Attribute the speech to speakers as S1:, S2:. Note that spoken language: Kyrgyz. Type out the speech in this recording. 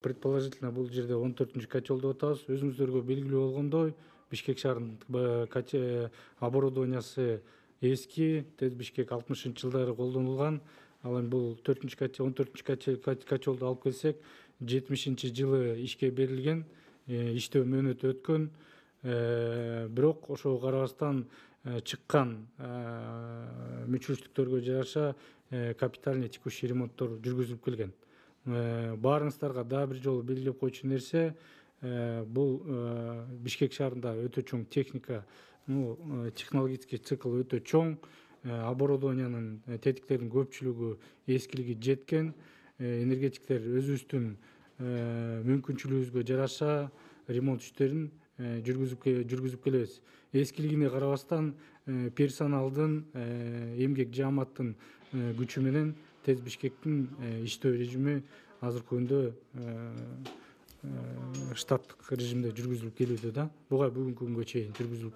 S1: Предположительно бул жерде 14 котелду атабыз. Өзүңүздөргө белгилүү болгондой, Бишкек шаарынын оборудованиясы эски, ТЭЦ Бишкек 60-жылдары колдонулган. Ал эми бул 14 котелду алып келсек, 70-жылы ишке берилген, иштөө мөөнөтү өткөн. Бирок ошого карабастан чыккан мүчүлүштүктөргө жараша капитальный текущий ремонттор жүргүзүлүп келген. Баарыңыздарга дагы бир жолу белгилеп койчу нерсе, бул Бишкек шаарында өтө чоң техника, технологический цикл өтө чоң. Оборудованиянын, тетиктердин көпчүлүгү эскилиги жеткен. Энергетиктер өзүбүздүн мүмкүнчүлүгүбүзгө жараша ремонт иштерин жүргүзүп келебиз. Эскилигине карабастан персоналдын, эмгек жааматтын күчү менен ТЭЦ Бишкектин иштөө режими азыркы күндө штаттык режимде жүргүзүлүп келүүдө да. Буга бүгүнкү күнгө чейин жүргүзүлүп